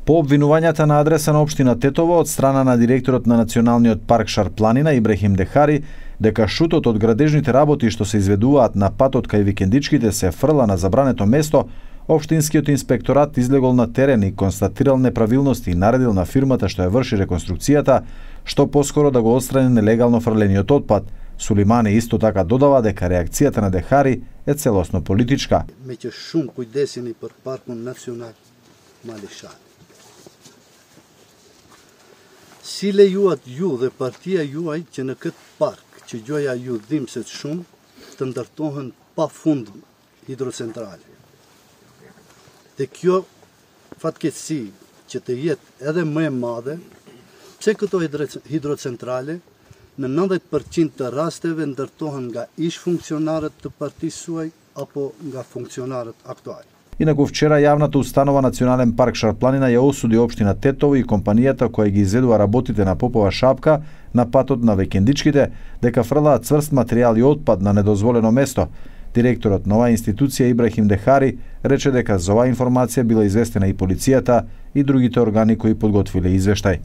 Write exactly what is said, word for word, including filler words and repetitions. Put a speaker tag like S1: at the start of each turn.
S1: По обвинувањата на адреса на општина Тетово од страна на директорот на Националниот парк Шар-планина Ибрахим Дехари дека шутот од градежните работи што се изведуваат на патот кај викендичките се фрла на забрането место, општинскиот инспекторат излегол на терен и констатирал неправилности и наредил на фирмата што ја врши реконструкцијата што поскоро да го отстрани нелегално фрлениот отпад. Сулимани исто така додава дека реакцијата на Дехари е целосно политичка.
S2: Меќе шум кујдесени për паркun национал Малишани. Si lejuat ju dhe partia juaj që në këtë park që gjoja ju dhimbset shumë të ndërtohen pa fund hidrocentrale. Dhe kjo fatkeqësi që të jetë edhe më e madhe, pse këto hidrocentrale në nëntëdhjetë përqind të rasteve ndërtohen nga ish funksionarët të partisë suaj apo nga funksionarët aktuali.
S1: Инаку вчера јавната установа Национален парк Шар-планина ја осуди општина Тетово и компанијата која ги изведува работите на Попова шапка на патот на викендичките дека фрлаат цврст материјал и отпад на недозволено место. Директорот на оваа институција Ибрахим Дехари рече дека за оваа информација била известена и полицијата и другите органи кои подготвиле извештај.